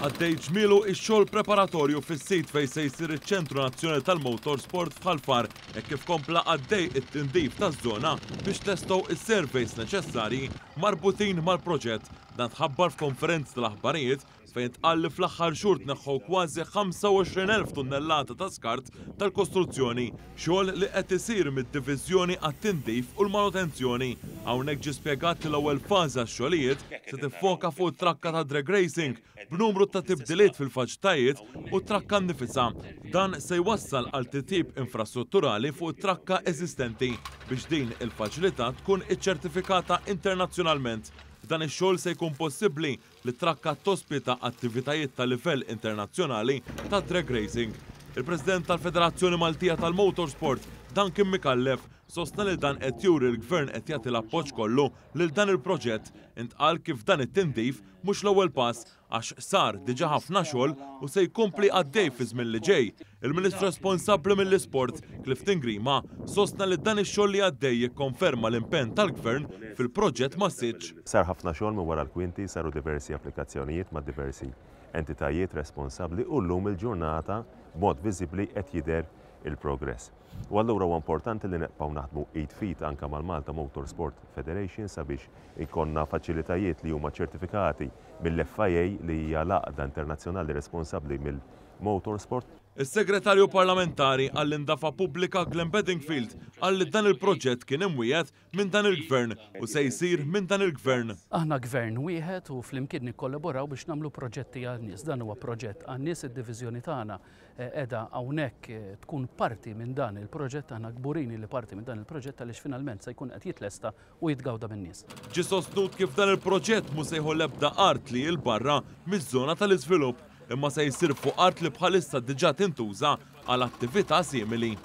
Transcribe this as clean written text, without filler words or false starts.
Għaddej ġmielu x-xogħol preparatorju fis-sit fejn se jsir iċ-Ċentru Nazzjonali tal-Motorsport f'Ħal Far hekk kif kompla għaddej it-tindif taż-żona biex tlestow is-surveys neċessarji marbutin mal-proġett. Dan tħabbar f'konferenza tal-aħbarijiet fejn ntqal li fl-aħħar xhur tneħħew kważi 25,000 tunnellata ta' skart tal-kostruzzjoni, xogħol li qed isir mid-Diviżjoni għat-Tindif u l-Manutenzjoni. Hawnhekk ġie spjegat li l-ewwel fażi għax-xogħlijiet se tiffoka fuq it-trakka ta' drag racing b'numru ta' tibdiliet fil-faċilitajiet u t-trakka nnifisha. Dan se jwassal għal titjib infrastrutturali fuq it-trakka eżistenti biex din il-faċilità tkun iċċertifikata internazzjonalment. B'dan ix-xogħol se jkun possibbli li t-trakka tospita attivitajiet ta' livell internazzjonali ta' drag racing. Il-President tal-Federazzjoni Maltija tal-Motorsport, Duncan Micallef, sostna li dan qed juri l-Gvern qed jagħti l-appoġġ kollu lil dan il-proġett. Intqal kif dan it-tindif mhux l-ewwel pass għax sar diġà ħafna xogħol u se jkompli għaddej fi żmien li ġej. Il-Ministru responsabbli mill-Isport, Clifton Grima, sostna li dan ix-xogħol li għaddej jikkonferma l-impenn tal-Gvern fil-proġett massiċċ. Sar ħafna xogħol minn wara l-kwinti, saru diversi applikazzjonijiet ma' diversi entitajiet responsabbli u llum il-ġurnata b'mod viżibbli qed jidher il-progress. U allura huwa importanti li nibqgħu naħdmu id f'id anke mal-Malta Motorsport Federation sabiex ikollna faċilitajiet li huma ċertifikati mill-FIA li hija l-għaqda internazzjonali responsabbli mill-motorsport. Is-Segretarju Parlamentari għall-Indafa Pubblika Glenn Bedingfield qal li dan il-proġett kien imwiegħed minn dan il-Gvern u se jsir minn dan il-Gvern. Aħna Gvern wieħed u flimkien nikkollaboraw biex nagħmlu proġetti għan-nies. Dan huwa proġett għan-nies, id-diviżjoni tagħna qiegħda hawnhekk tkun parti minn dan il-proġett, aħna kburin li parti minn dan il-proġett għaliex finalment se jkun qed jitlesta u jitgawda min-nies. Ġie sostnut kif dan il-proġett mhu se jieħu l-ebda art li hi 'l barra miż-żona tal-iżvilupp imma se jsir fuq art li bħalissa diġà tintuża għal attività simili.